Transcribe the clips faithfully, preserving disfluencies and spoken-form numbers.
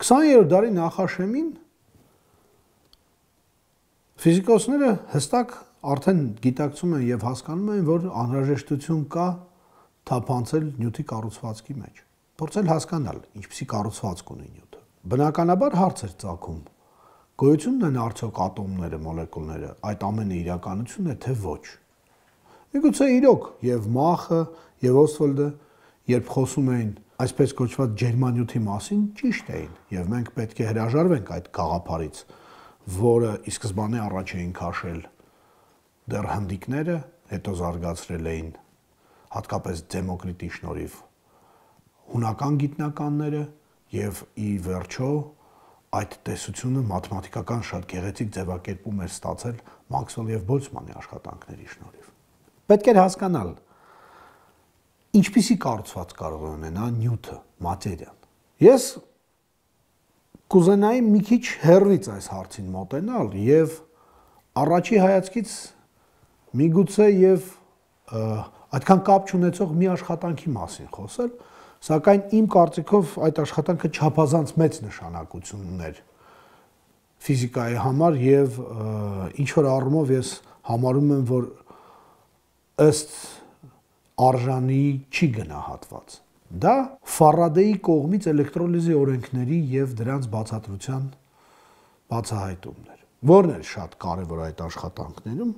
քսաներորդ դարի նախաշեմին ֆիզիկոսները հստակ արդեն գիտակցում են եւ հասկանում են, որ անհրաժեշտություն կա թափանցել նյութի կառուցվածքի մեջ։ Փորձել հասկանալ, ինչպիսի կառուցվածք ունի նյութը։ Բնականաբար հարց էր ծագում. գոյությունն են արդյոք ատոմները, մոլեկուլները, այդ ամենը իրականություն է, թե ոչ։ Միգուցե իրոք եւ Մախը եւ Օստվալդը, երբ խոսում էին այսպես կոչված ջերմանյութի մասին, ճիշտ էին, եւ մենք պետք է հրաժարվենք այդ գաղափարից, որը ի սկզբանե առաջ էին քաշել դեռ հնդիկները, հետո զարգացրել էին հատկապես Դեմոկրիտի շնորհիվ հունական գիտնականները եւ ի վերջո այդ տեսությունը մաթեմատիկական շատ գեղեցիկ ձևակերպում էր ստացել Մաքսվել եւ Բոլցմանի աշխատանքների շնորհիվ։ Պետք էր հասկանալ, ինչպիսի կառուցված կարող է ունենա նյութը, մատերիան։ Ես կուզենայի մի քիչ հեռվից այս հարցին մոտենալ եւ առաջի հայացքից միգուցե եւ այդքան կապ չունեցող մի աշխատանքի մասին խոսել, սակայն իմ կարծիքով այդ աշխատանքը չափազանց մեծ նշանակություն ուներ ֆիզիկայի համար եւ ինչ որ առումով ես համարում եմ, որ ըստ արժանի չի գնահատված։ Դա Ֆարադեի կողմից էլեկտրոլիզի օրենքների եւ դրանց բացատրության բացահայտումն էր։ Որն էր շատ կարեւոր այդ աշխատանքներում։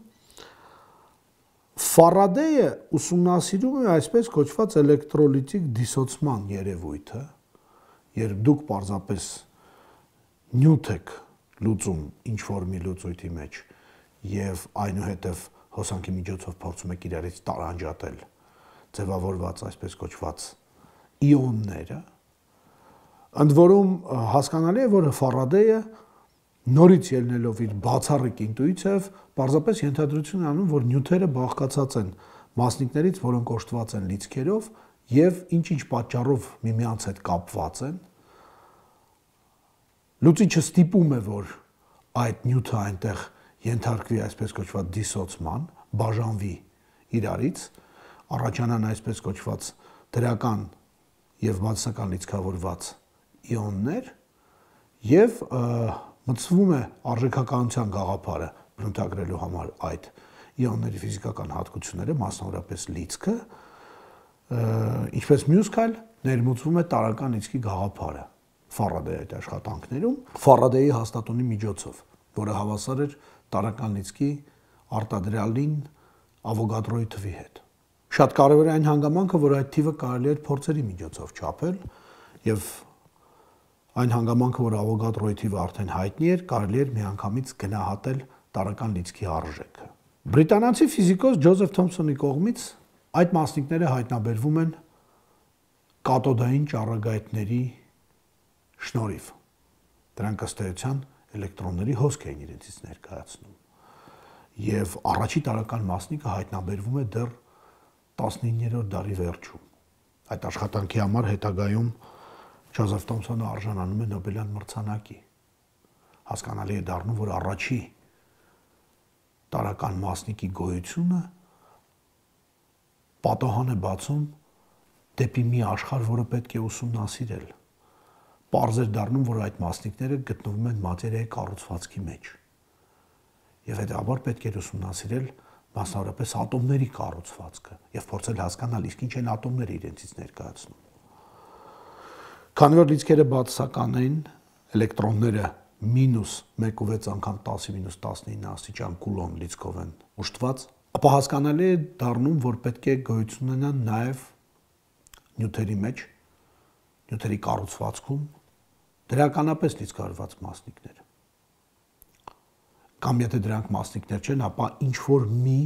Ֆարադեյը ուսումնասիրում է այսպես կոչված էլեկտրոլիտիկ դիսոցման երևույթը, երբ դուք պարզապես նյութ եք լուծում ինչ-որ մի լուծույթի մեջ եւ այնուհետեւ հոսանքի միջոցով փորձում եք իրարից տարանջատել ձևավորված այսպես կոչված իոնները, ընդ որում հասկանալի է, որ Ֆարադեյը նորից ելնելով իր բացառիկ ինտուիցիայով պարզապես ենթադրություն անում, որ նյութերը բաղկացած են մասնիկներից, որոնք օժտված են լիցքերով եւ ինչ-ինչ պատճառով միմյանց հետ կապված են։ Լուծիչը ստիպում է, որ այդ նյութը այնտեղ ենթարկվի այսպես կոչված դիսոցման, բաժանվի իրարից, առաջանան այսպես կոչված դրական եւ բացասական լիցքավորված իոններ եւ մտցվում է արժեքականության գաղափարը բնութագրելու համար այդ իոնների ֆիզիկական հատկությունները, մասնավորապես լիցքը, ինչպես մյուս քայլ ներմուծվում է տարրական լիցքի գաղափարը Ֆարադեի այդ աշխատանքներում, Ֆարադեի հաստատունի միջոցով, որը հավասար էր տարրական լիցքի արտադրյալին Ավոգադրոյի թվի հետ։ Շատ կարևոր է այն հանգամանքը, որ այդ թիվը կարելի էր փորձերի միջոցով չափել եւ այն հանգամանքը, որ Ավոգադրոյի թիվը արդեն հայտնի էր, կարելի էր միանգամից գնահատել տարրական լիցքի արժեքը։ Բրիտանացի ֆիզիկոս Ջոզեֆ Թոմփսոնի կողմից այդ մասնիկները հայտնաբերվում են կաթոդային ճառագայթների շնորհիվ։ Դրանք ըստ էության էլեկտրոնների հոսք էին իրենցից ներկայացնում։ Եվ առաջի տարրական մասնիկը հայտնաբերվում է դեռ տասնիններորդ դարի վերջում։ Այդ աշխատանքի համար հետագայում Ջոզեֆ Թոմփսոնը արժանանում է Նոբելյան մրցանակի։ Հասկանալի է դառնում, որ առաջի տարրական մասնիկի գոյությունը պատահան է բացում դեպի մի աշխարհ, որը պետք է ուսումնասիրել։ Պարզ է դառնում, որ այդ մասնիկները գտնվում են մատերիայի կառուցվածքի մեջ։ Եվ հետաբար պետք է ուսումնասիրել մասնավորապես ատոմների կառուցվածքը եւ փորձել հասկանալ իսկ ինչ են ատոմները իրենցից ներկայացնում։ Քանի որ լիցքերը բացասական են, էլեկտրոնները մինուս մեկ ու վեց անգամ տասի մինուս տասնինը աստիճան կուլոն լիցքով են ուշտված, ապա հասկանալի է դառնում, որ պետք է գոյություն ունենան նաեւ նյութերի մեջ, նյութերի կառուցվածքում դրականապես լիցքավորված մասնիկներ։ Կամ եթե դրանք մասնիկներ չեն, ապա ինչ որ մի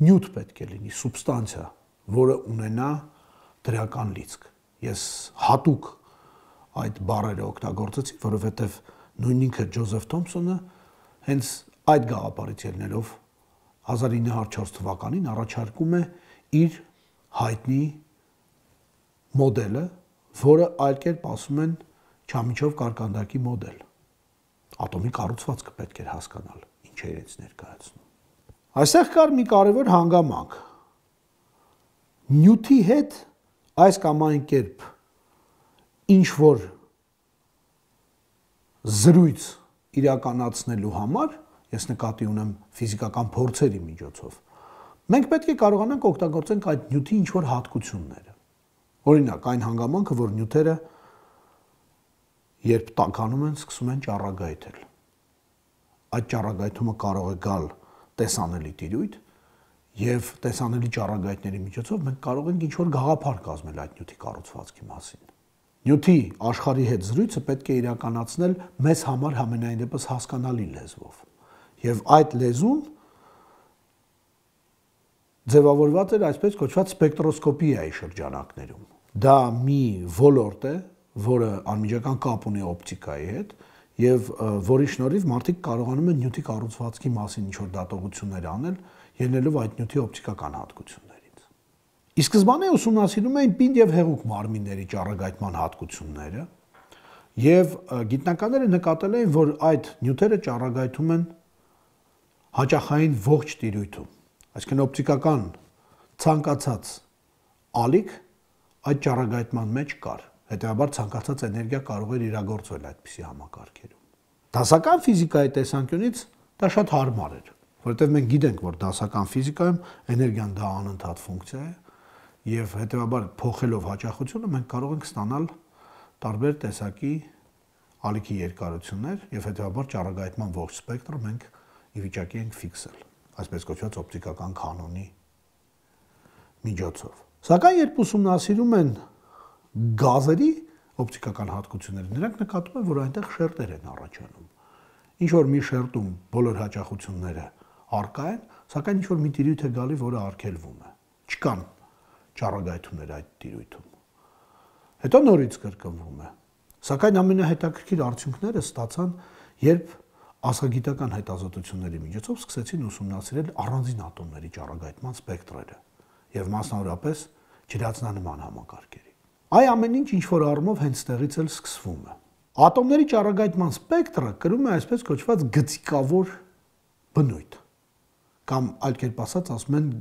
նյութ պետք է լինի, սուբստանցիա, որը ունենա դրական լիցք։ Ես հատուկ այդ բառերը օգտագործեցի, որովհետև նույն ինքը Ջոզեֆ Թոմփսոնը հենց այդ գաղափարից ելնելով հազար ինը հարյուր չորս թվականին առաջարկում է իր հայտնի մոդելը, որը այլ կերպ ասում են Չամիչով կարկանդակի մոդել։ Ատոմի կառուցվածքը պետք էր հասկանալ, ինչ է իրենց ներկայացնում։ Այստեղ կար մի կարևոր հանգամանք։ Նյութի հետ այս կամ այն կերպ ինչ որ զրույց իրականացնելու համար, ես նկատի ունեմ ֆիզիկական փորձերի միջոցով, մենք պետք է կարողանանք օգտագործենք այդ նյութի ինչ-որ հատկությունները։ Օրինակ, այն հանգամանքը, որ նյութերը երբ տաքանում են, սկսում են ճառագայթել։ Այդ ճառագայթումը կարող է գալ տեսանելի տիրույթ, եւ տեսանելի ճառագայթների միջոցով մենք կարող ենք ինչ-որ գաղափար կազմել այդ նյութի կառուցվածքի մասին։ Նյութի աշխարհի հետ զրույցը պետք է իրականացնել մեզ համար համենայն դեպս հասկանալի լեզվով։ Եվ այդ լեզուն ձևավորված էր այսպես կոչված սպեկտրոսկոպիայի շրջանակներում։ Դա մի ոլորտ է, որը անմիջական կապ ունի օպտիկայի հետ, եւ որի շնորհիվ մարդիկ կարողանում են նյութի կառուցվածքի մասին ինչ-որ դատողություններ անել, ելնելով այդ նյութի օպտիկական հատկություններից։ Ի սկզբանե ուսումնասիրում էին պինդ եւ հեղուկ մարմինների ճառագայթման հատկությունները, եւ գիտնականները նկատել էին, որ այդ նյութերը ճառագայթում են հաճախային ողջ տիրույթում, այսինքն օպտիկական ցանկացած ալիք այդ ճառագայթման մեջ կար, հետեւաբար ցանկացած էներգիա կարող էր իրագործվել այդպիսի համակարգերում։ Դասական ֆիզիկայի տեսանկյունից դա շատ հարմար էր, որովհետև մենք գիտենք, որ դասական ֆիզիկայում էներգիան դա անընդհատ ֆունկցիա է, եւ հետեւաբար փոխելով հաճախությունը մենք կարող ենք ստանալ տարբեր տեսակի ալիքի երկարություններ եւ հետեւաբար ճառագայթման ողջ սպեկտրը մենք ի վիճակի ենք ֆիքսել, այսպես կոչված օպտիկական կանոնի միջոցով։ Սակայն երբ ուսումնասիրում են գազերի օպտիկական հատկությունները, նրանք նկատում են, որ այնտեղ շերտեր են առաջանում։ Ինչ որ մի շերտում բոլոր հաճախությունները առկա են, սակայն ինչ որ մի տիրույթ է գալի, որը արգելվում է։ Չկան ճառագայթումներ այդ տիրույթում։ Հետո նորից կրկնվում է։ Սակայն ամենահետաքրքիր արդյունքները ստացան, երբ աստղագիտական հետազոտությունների միջոցով սկսեցին ուսումնասիրել առանձին ատոմների ճառագայթման սպեկտրերը եւ մասնավորապես ջրածնանման համակարգերի։ Այ ամեն ինչ ինչ որ առումով հենց տեղից էլ սկսվում է։ Ատոմների ճառագայթման սպեկտրը կրում է այսպես կոչված գծիկավոր բնույթ, կամ այլ կերպ ասած ասում են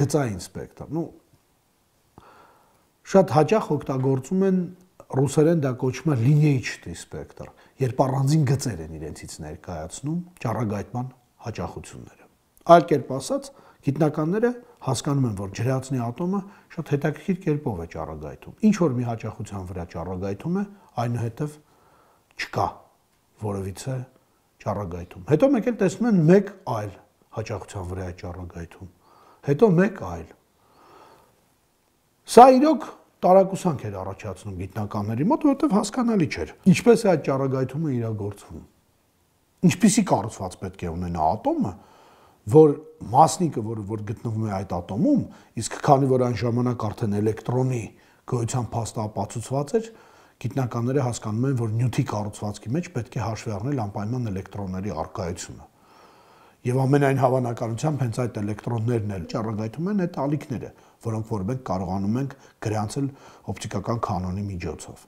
գծային սպեկտր։ Ну շատ հաճախ օգտագործում են ռուսերեն դա կոչվում է լինեյչտի սպեկտր, երբ առանձին գծեր են իրենցից ներկայացնում ճառագայթման հաճախությունները։ Այլ կերպ ասած, գիտնականները հասկանում են, որ ջրածնի ատոմը շատ հետաքրքիր կերպով է ճառագայթում։ Ինչ որ մի հաճախության վրա ճառագայթում է, այնուհետև չկա որևիցե ճառագայթում։ Հետո մեկ էլ տեսնում են մեկ այլ հաճախության վրա է ճառագայթում։ Հետո մեկ այլ։ Սա իրոք տարակուսանք էր առաջացնում գիտնականների մոտ, որովհետև հասկանալի չէր, ինչպես է այդ ճառագայթումը իրագործվում։ Ինչպիսի կառուցված պետք է ունենա ատոմը, որ մասնիկը, որը որ գտնվում է այդ ատոմում, իսկ քանի որ այն ժամանակ արդեն էլեկտրոնի գոյության փաստը ապացուցված էր, գիտնականները հասկանում են, որ նյութի կառուցվածքի մեջ պետք է հաշվի առնել անպայման էլեկտրոնների առկայությունը։ Եվ ամենայն հավանականությամբ հենց այդ էլեկտրոններն էլ ճառագայթում են այդ ալիքները, որոնք որ մենք կարողանում ենք գրանցել օպտիկական կանոնի միջոցով։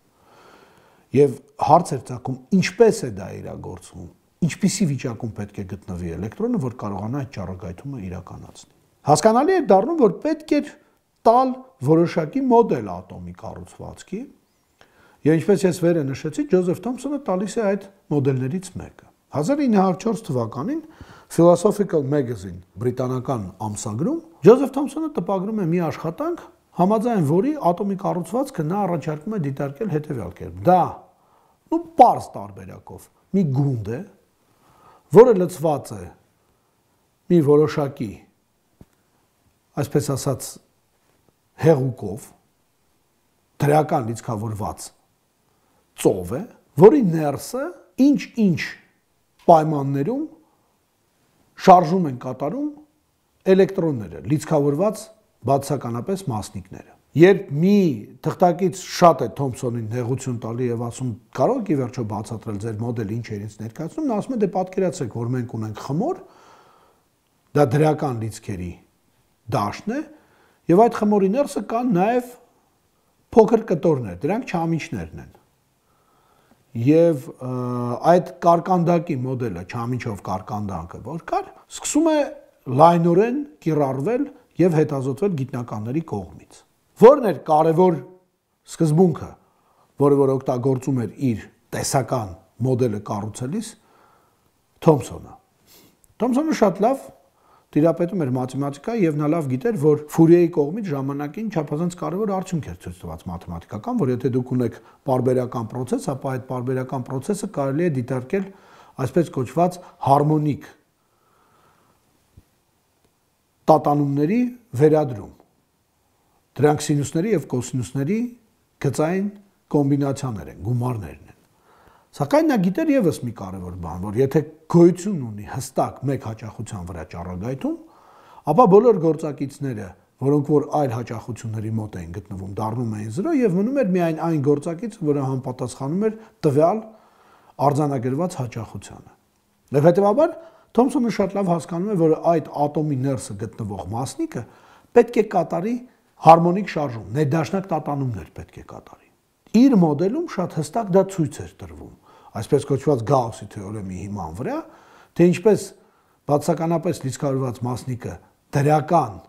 Եվ հարց էր ծագում, ինչպես է դա իրագործվում, ինչպիսի վիճակում պետք է գտնվի էլեկտրոնը, որ կարողանա այդ ճառագայթումը իրականացնել։ Հասկանալի է դառնում, որ պետք է տալ որոշակի մոդել ատոմի կառուցվածքի, եւ ինչպես ես վերը նշեցի, Ջոզեֆ Թոմփսոնը տալիս է այդ մոդելներից մեկը։ հազար ինը հարյուր չորս թվականին Philosophical Magazine բրիտանական ամսագրում Ջոզեֆ Թոմփսոնը տպագրում է մի աշխատանք, համաձայն որի ատոմի կառուցվածքը նա առաջարկում է դիտարկել հետևյալ կերպ։ Դա ու պարզ տարբերակով մի գունդ է, որը լցված է մի որոշակի, այսպես ասած, հեղուկով, դրական լիցքավորված ծով է, որի ներսը ինչ-ինչ պայմաններում շարժում են կատարում էլեկտրոնները, լիցքավորված բացասականապես մասնիկները։ Երբ մի թղթակից շատ է Թոմփսոնին նեղություն տալի եւ ասում, կարող եք ի վերջո բացատրել ձեր մոդելը ինչ է ինձ ներկայացնում, նա ասում է, դե պատկերացրեք, որ մենք ունենք խմոր, դա դրական լիցքերի դաշտն է, եւ այդ խմորի ներսը կան նաեւ փոքր կտորներ, դրանք չամիչներն են։ Եվ այդ կարկանդակի մոդելը, չամիչով կարկանդանքը, որ կար, սկսում է լայնորեն կիրառվել եւ հետազոտվել գիտնականների կողմից։ Որն էր կարևոր սկզբունքը, որը որ օգտագործում էր իր տեսական մոդելը կառուցելիս Թոմսոնը։ Թոմսոնը շատ լավ տիրապետում էր մաթեմատիկա եւ նա լավ գիտեր, որ Ֆուրիեի կողմից ժամանակին չափազանց կարևոր արդյունք էր ցույց տված մաթեմատիկական, որ եթե դուք ունեք պարբերական process, ապա այդ պարբերական process-ը կարելի է դիտարկել այսպես կոչված հարմոնիկ տատանումների վերադրում։ Դրանք սինուսների եւ կոսինուսների գծային կոմբինացիաներ են, գումարներն են։ Սակայն նա գիտեր եւս մի կարևոր բան, որ եթե գոյություն ունի հստակ մեկ հաճախության վրա ճառագայթում, ապա բոլոր գործակիցները, որոնք որ այլ հաճախությունների մոտ էին գտնվում, դառնում էին զրո եւ մնում էր միայն այն գործակիցը, որը համապատասխանում էր տվյալ արձանագրված հաճախությանը։ Եվ հետեւաբար Թոմսոնը շատ լավ հասկանում է, որ այդ ատոմի ներսը գտնվող մասնիկը պետք է կատարի հարմոնիկ շարժում, ներդաշնակ տատանումներ պետք է կատարի։ Իր մոդելում շատ հստակ դա ցույց էր տրվում, այսպես կոչված Գաուսի թեորեմի հիման վրա, թե ինչպես բացականապես լիցքավորված մասնիկը դրական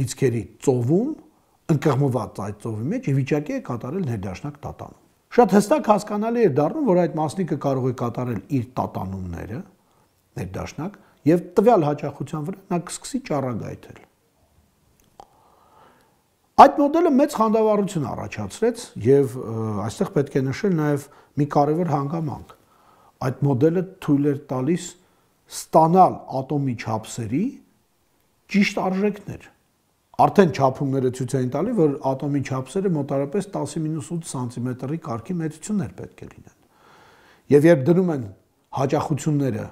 լիցքերի ծովում ընկղմված այդ ծովի մեջ ի վիճակի է կատարել ներդաշնակ տատանում։ Շատ հստակ հասկանալի էր դառնում, որ այդ մասնիկը կարող է կատարել իր տատանումները ներդաշնակ եւ տվյալ հաճախության վրա նա կսկսի ճառագայթել։ Այդ մոդելը մեծ խանդավառություն առաջացրեց եւ այստեղ պետք է նշել նաեւ մի կարևոր հանգամանք։ Այդ մոդելը թույլ էր տալիս ստանալ ատոմի չափսերի ճիշտ արժեքներ։ Արդեն չափումները ցույց էին տալի, որ ատոմի չափսերը մոտարապես տասը մինուս ութ սանտիմետրի կարգի մեծություններ պետք է լինեն։ Եվ երբ դնում են հաճախությունները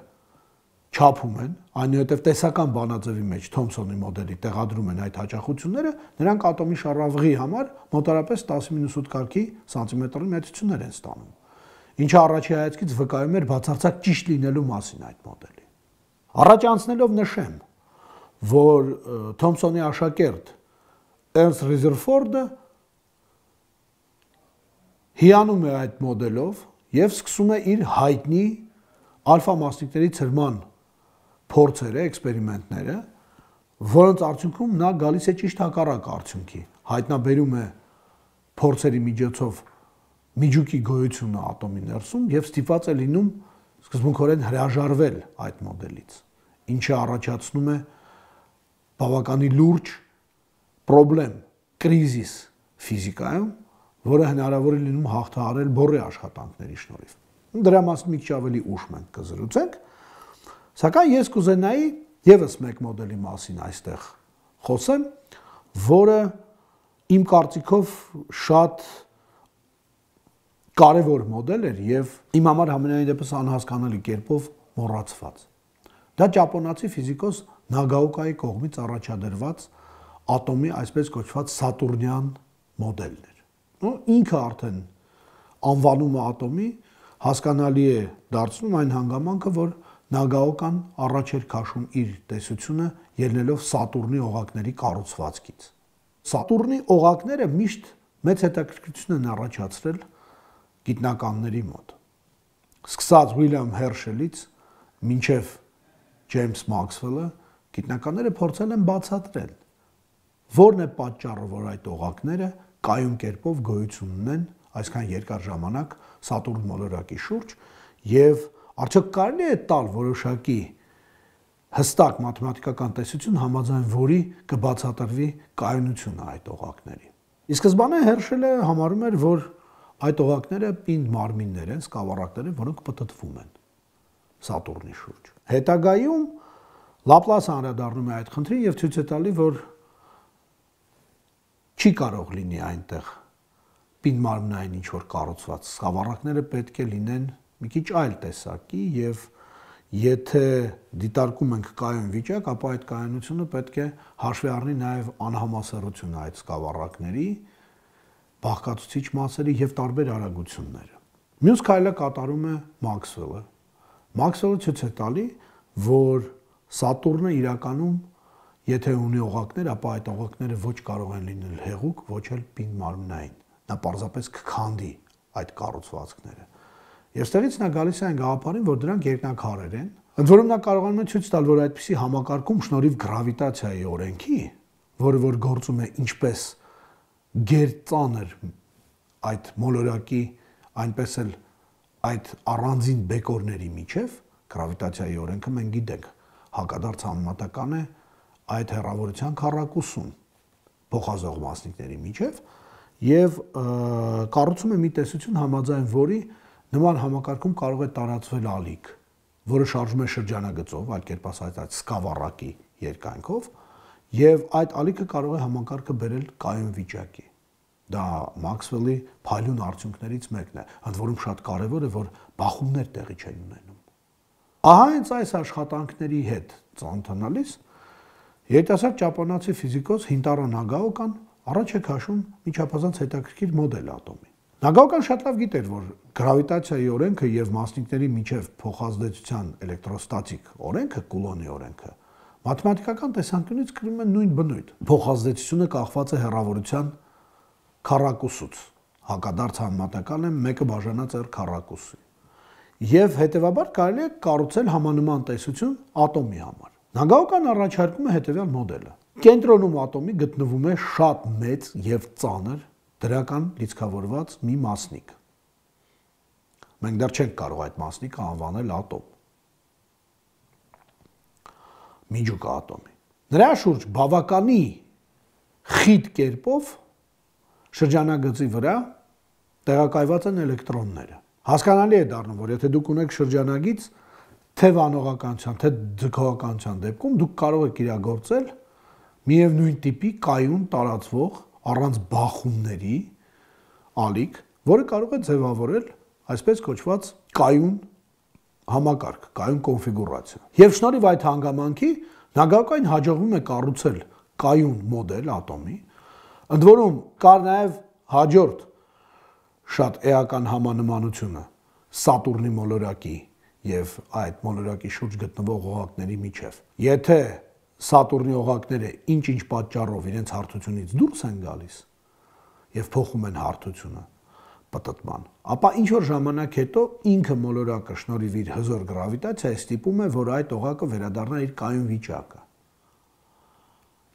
չափում են, այնուհետև տեսական բանաձևի մեջ Թոմսոնի մոդելի տեղադրում են այդ հաճախությունները, նրանք ատոմի շարավղի համար մոտարապես տասը մինուս ութ կարգի սանտիմետրի մեծություններ են ստանում, ինչը առաջի հայացքից վկայում էր բացարձակ ճիշտ լինելու մասին այդ մոդելի։ Առաջ անցնելով նշեմ, որ Թոմսոնի աշակերտ Էրնստ Ռեզերֆորդը հիանում է այդ մոդելով եւ սկսում է իր հայտնի ալֆա մասնիկների ցրման փորձերը, էքսպերիմենտները, որոնց արդյունքում նա գալիս է ճիշտ հակառակ արդյունքի, հայտնաբերում է փորձերի միջոցով միջուկի գոյությունը ատոմի ներսում եւ ստիպված է լինում սկզբունքորեն հրաժարվել այդ մոդելից, ինչը առաջացնում է բավականին լուրջ պրոբլեմ, կրիզիս ֆիզիկայում, որը հնարավոր է լինում հաղթահարել բորի աշխատանքների շնորհիվ։ Դրա մասին մի քիչ ավելի ուշ մենք կզրուցենք, սակայն ես կուզենայի եւս մեկ մոդելի մասին այստեղ խոսեմ, որը իմ կարծիքով շատ կարևոր մոդել էր եւ իմ համար համենայն դեպս անհասկանալի կերպով մոռացված։ Դա ճապոնացի ֆիզիկոս Նագաոկայի կողմից առաջադրված ատոմի այսպես կոչված Սատուրնյան մոդելն էր։ Ու ինքը արդեն անվանումը ատոմի հասկանալի է դարձնում այն հանգամանքը, որ Նագաոկան առաջ էր քաշում իր տեսությունը ելնելով Սատուրնի օղակների կառուցվածքից։ Սատուրնի օղակները միշտ մեծ հետաքրքրություն են առաջացրել գիտնականների մոտ։ Սկսած Ուիլյամ Հերշելից մինչև Ջեյմս Մաքսվելը գիտնականները փորձել են բացատրել, որն է պատճառը, որ այդ օղակները կայուն կերպով գոյություն ունեն այսքան երկար ժամանակ Սատուրն մոլորակի շուրջ եւ արդյոք կարելի է տալ որոշակի հստակ մաթեմատիկական տեսություն, համաձայն որի կբացատրվի կայունությունը այդ օղակների։ Ի սկզբանե Հերշելը համարում էր, որ այդ օղակները պինդ մարմիններ են, սկավառակներ են, որոնք պտտվում են Սատուրնի շուրջ։ Հետագայում Լապլասը անդրադառնում է այդ խնդրին եւ ցույց է տալի, որ չի կարող լինի այնտեղ պինդ մարմնային ինչ որ կառուցված սկավառակները պետք է լինեն մի քիչ այլ տեսակի եւ եթե դիտարկում ենք կայուն վիճակ, ապա այդ կայունությունը պետք է հաշվի առնի նաեւ անհամասեռությունը այդ սկավառակների, բաղկացուցիչ մասերի եւ տարբեր արագությունները։ Մյուս քայլը կատարում է Մաքսվելը։ Մաքսվելը ցույց է տալի, որ Սատուրնը իրականում եթե ունի օղակներ, ապա այդ օղակները ոչ կարող են լինել հեղուկ, ոչ էլ պինդ մարմնային։ Նա պարզապես կքանդի այդ կառուցվածքները։ Եվ ստեղից նա գալիս է այն գաղափարին, որ դրանք երկնաքարեր են, ընդ որում նա կարողանում է ցույց տալ, որ այդպիսի համակարգում շնորհիվ գրավիտացիայի օրենքի, որը որ գործում է ինչպես գերծանր այդ մոլորակի, այնպես էլ այդ առանձին բեկորների միջև գրավիտացիայի օրենքը մենք գիտենք, հակադարձ համեմատական է այդ հեռավորության քառակուսուն փոխազող մասնիկների միջև եւ կառուցում է մի տեսություն համաձայն որի նման համակարգում կարող է տարածվել ալիք, որը շարժվում է շրջանագծով, այլ կերպ ասած այդ սկավառակի երկայնքով, եւ այդ ալիքը կարող է համակարգը բերել կայուն վիճակի։ Դա Մաքսվելի փայլուն արդյունքներից մեկն է, ընդ որում շատ կարեւոր է, որ բախումներ տեղի չեն ունենում։ Ահա հենց այս աշխատանքների հետ ծանոթանալիս երիտասարդ ճապոնացի ֆիզիկոս Հինտարո Նագաոկան առաջ է քաշում մի չափազանց հետաքրքիր մոդել ատոմի։ Նագաոկան շատ լավ գիտեր, որ գրավիտացիայի օրենքը եւ մասնիկների միջև փոխազդեցության էլեկտրոստատիկ օրենքը, Կուլոնի օրենքը, մաթեմատիկական տեսանկյունից կրում են նույն բնույթ։ Փոխազդեցությունը կախված է հեռավորության քառակուսուց, հակադարձ համեմատական է մեկը բաժանած r քառակուսի։ Եվ հետեւաբար կարելի է կառուցել համանման տեսություն ատոմի համար։ Նագաոկան առաջարկում է հետևյալ մոդելը։ Կենտրոնում ատոմի գտնվում է շատ մեծ եւ ծանր դրական լիցքավորված մի մասնիկ։ Մենք դեռ չենք կարող այդ մասնիկը անվանել ատոմ։ Միջուկա ատոմի։ Նրա շուրջ բավականի խիտ կերպով շրջանագծի վրա տեղակայված են էլեկտրոնները։ Հասկանալի է դառնում, որ եթե դուք ունեք շրջանագիծ, թե վանողականության, թե ձգողականության դեպքում դուք կարող եք իրագործել միևնույն տիպի կայուն տարածվող առանց բախումների ալիք, որը կարող է ձևավորել այսպես կոչված կայուն համակարգ, կայուն կոնֆիգուրացիա։ Եվ շնորհիվ այդ հանգամանքի Նագաոկային հաջողվում է կառուցել կայուն մոդել ատոմի, ընդ որում կար նաև հաջորդ շատ էական համանմանությունը Սատուրնի մոլորակի եւ այդ մոլորակի շուրջ գտնվող օղակների միջև։ Եթե Սատուրնի օղակները ինչ-ինչ պատճառով իրենց հարթությունից դուրս են գալիս եւ փոխում են հարթությունը պտտման, ապա ինչ որ ժամանակ հետո ինքը մոլորակը շնորհիվ իր հզոր գրավիտացիայի ստիպում է, որ այդ օղակը վերադառնա իր կայուն վիճակը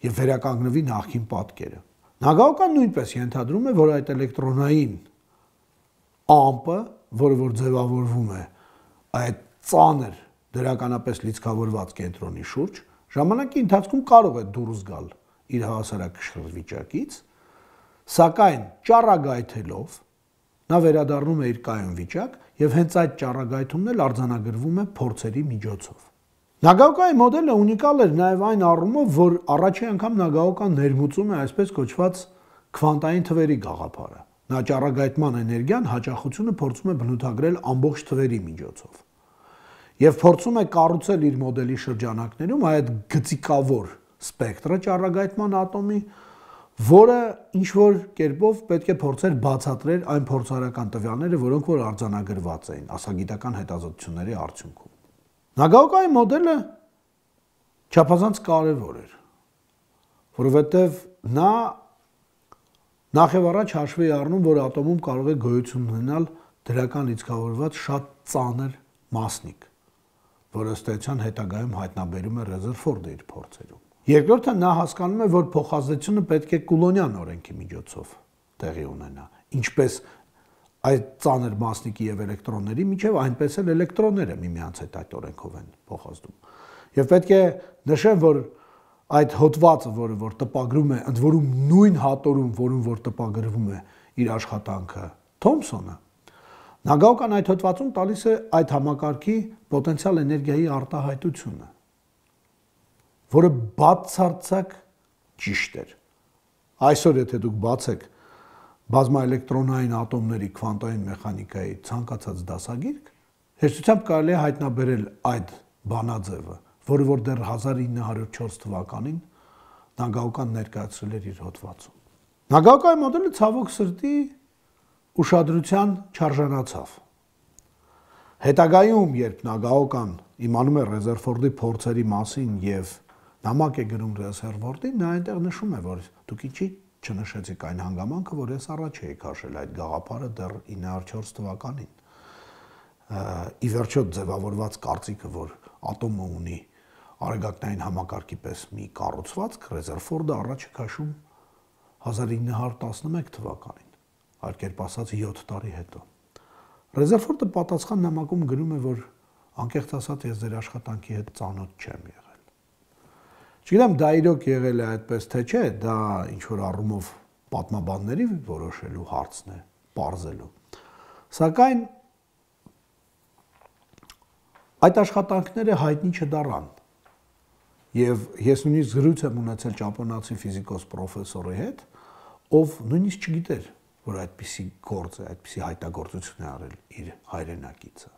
եւ վերականգնվի նախկին պատկերը։ Նագաոկան նույնպես ենթադրում է, որ այդ էլեկտրոնային ամպը, որը որ ձևավորվում է այդ ծանր դրականապես լիցքավորված կենտրոնի շուրջ, ժամանակի ընթացքում կարող է դուրս գալ իր հավասարակշռ վիճակից, սակայն ճառագայթելով նա վերադառնում է իր կայուն վիճակ եւ հենց այդ ճառագայթումն էլ արձանագրվում է փորձերի միջոցով։ Նագաոկայի մոդելը ունիկալ էր նաեւ այն առումով, որ առաջին անգամ Նագաոկան ներմուծում է այսպես կոչված քվանտային թվերի գաղափարը։ Նա ճառագայթման էներգիան հաճախությունը փորձում է բնութագրել ամբողջ թվերի միջոցով եւ փորձում է կառուցել իր մոդելի շրջանակներում այդ գծիկավոր սպեկտրը ճառագայթման ատոմի, որը ինչ որ կերպով պետք է փորձեր բացատրել այն փորձարարական տվյալները, որոնք որ արձանագրված էին ասագիտական հետազոտությունների արդյունքում։ Նագաոկայի մոդելը չափազանց կարևոր էր, որովհետեւ նա նախ եւ առաջ հաշվի առնում, որ ատոմում կարող է գոյություն ունենալ դրական լիցքավորված շատ ծանր մասնիկ, որը ըստ էության հետագայում հայտնաբերում է Ռեզերֆորդը իր փորձերում։ Երկրորդը նա հասկանում է, որ փոխազդեցությունը պետք է Կուլոնյան օրենքի միջոցով տեղի ունենա, ինչպես այդ ծանր մասնիկի եւ էլեկտրոնների միջև, այնպես էլ էլեկտրոնները միմյանց հետ այդ օրենքով են փոխազդում։ Եվ պետք է նշեմ, որ այդ հոդվածը, որը որ տպագրում է, ընդ որում նույն հատորում, որում որ տպագրվում է իր աշխատանքը Թոմսոնը, Նագաոկան այդ հոդվածում տալիս է այդ համակարգի պոտենցիալ էներգիայի արտահայտությունը, որը բացարձակ ճիշտ էր։ Այսօր եթե դուք բացեք բազմաէլեկտրոնային ատոմների քվանտային մեխանիկայի ցանկացած դասագիրք, հեշտությամբ կարելի է հայտնաբերել այդ բանաձևը, որը որ դեռ հազար ինը հարյուր չորս թվականին Նագաոկան ներկայացրել էր իր հոդվածում։ Նագաոկայի մոդելը ցավոք սրտի ուշադրության չարժանացավ։ Հետագայում, երբ Նագաոկան իմանում է Ռեզերֆորդի փորձերի մասին եւ նամակ է գրում Ռեզերֆորդին, նա այնտեղ նշում է, որ դուք ինչի չնշեցիք այն հանգամանքը, որ ես առաջ էի քաշել այդ գաղափարը դեռ ինը հարյուր չորս թվականին։ Ի վերջո ձևավորված կարծիքը, որ ատոմը ունի արեգակնային համակարգի պես մի կառուցվածք, Ռեզերֆորդը առաջ է քաշում հազար ինը հարյուր տասնմեկ թվականին, այլ կերպ ասած յոթ տարի հետո։ Ռեզերֆորդը պատասխան նամակում գրում է, որ անկեղծ ասած ես ձեր աշխատանքի հետ ծանոթ չեմ եղել։ Չգիտեմ, դա իրոք եղել է այդպես թե չէ, դա ինչ որ առումով պատմաբանների որոշելու հարցն է, պարզելու։ Սակայն այդ աշխատանքները հայտնի չդառան։ Եվ ես նույնիսկ զրույց եմ ունեցել ճապոնացի ֆիզիկոս պրոֆեսորի հետ, ով նույնիսկ չգիտեր, որ այդպիսի գործ է, այդպիսի հայտագործություն է արել իր հայրենակիցը։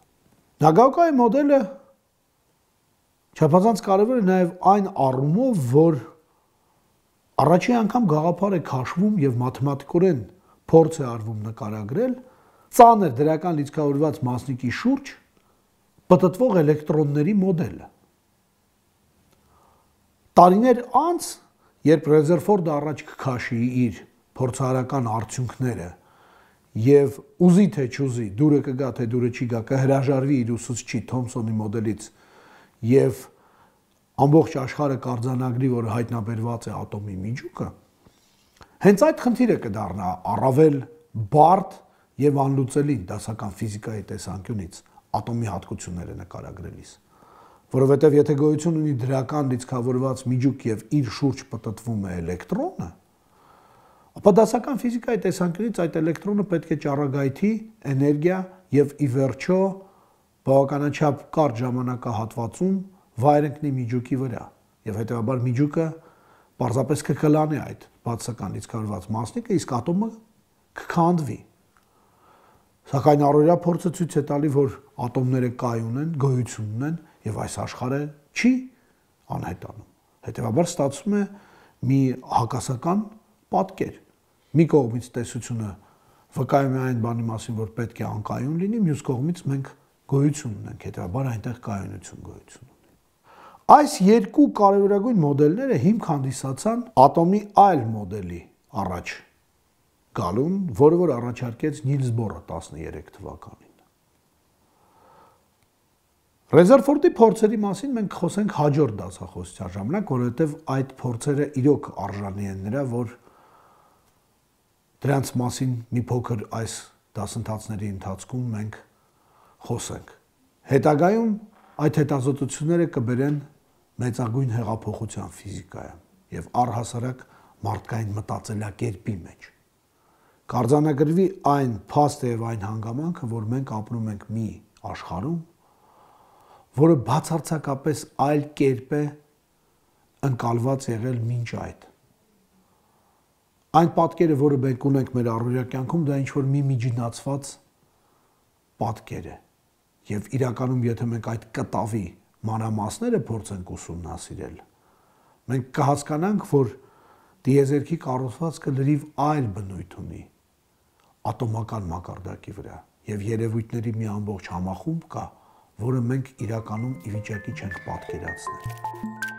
Նագաոկայի մոդելը չափազանց կարևոր է նաև այն առումով, որ առաջին անգամ գաղափար է քաշվում եւ մաթեմատիկորեն փորձ է արվում նկարագրել ծանր դրական լիցքավորված մասնիկի շուրջ պտտվող էլեկտրոնների մոդելը։ Տարիներ անց, երբ Ռեզերֆորդը առաջ կքաշի իր փորձարարական արդյունքները եւ ուզի թե չուզի, դուրը կգա թե դուրը չի գա, կհրաժարվի իր ուսուցչի Թոմսոնի մոդելից եւ ամբողջ աշխարհը կարձանագրի, որ հայտնաբերված է ատոմի միջուկը, հենց այդ խնդիրը կդառնա առավել բարդ եւ անլուծելի դասական ֆիզիկայի տեսանկյունից ատոմի հատկությունները նկարագրելիս, որովհետեւ եթե գոյություն ունի դրական լիցքավորված միջուկ եւ իր շուրջ պտտվում է էլեկտրոնը, ապա դասական ֆիզիկայի տեսանկյունից այդ էլեկտրոնը պետք է ճառագայթի էներգիա եւ ի վերջո բավականաչափ կարճ ժամանակահատվածում վայր ընկնի միջուկի վրա եւ հետեւաբար միջուկը պարզապես կկլանի այդ բացական լիցքավորված մասնիկը, իսկ ատոմը կքանդվի։ Սակայն առօրյա փորձը ցույց է տալի, որ ատոմները կայուն են, գոյություն ունեն եւ այս աշխարհը չի անհետանում։ Հետեւաբար ստացվում է մի հակասական պատկեր։ Մի կողմից տեսությունը վկայում է այն բանի մասին, որ պետք է անկայուն լինի, մյուս կողմից մենք գոյություն ունենք, հետեւաբար այնտեղ կայունություն գոյություն ունի։ Այս երկու կարևորագույն մոդելները հիմք հանդիսացան ատոմի այլ մոդելի առաջ գալուն, որը որ առաջարկեց Նիլս Բորը տասներեք թվականին։ Ռեզերֆորդի փորձերի մասին մենք խոսենք հաջորդ դասախոսության ժամանակ, որովհետև այդ փորձերը իրոք արժանի են նրա, որ դրանց մասին մի փոքր այս դասընթացների ընթացքում մենք խոսենք։ Հետագայում այդ հետազոտությունները կբերեն մեծագույն հեղափոխության ֆիզիկայում եւ առհասարակ մարդկային մտածելակերպի մեջ։ Կարձանագրվի այն փաստը եւ այն հանգամանքը, որ մենք ապրում ենք մի աշխարհում, որը բացարձակապես այլ կերպ է ընկալված եղել մինչ այդ։ Այն պատկերը, որը մենք ունենք մեր առօրյա կյանքում, դա ինչ-որ մի միջնացված պատկեր է։ Եվ իրականում, եթե մենք այդ կտավի մանրամասները փորձենք ուսումնասիրել, մենք կհասկանանք, որ տիեզերքի կառուցվածքը լրիվ այլ բնույթ ունի ատոմական մակարդակի վրա եւ երևույթների մի ամբողջ համախումբ կա, որը մենք իրականում ի վիճակի չենք պատկերացնել։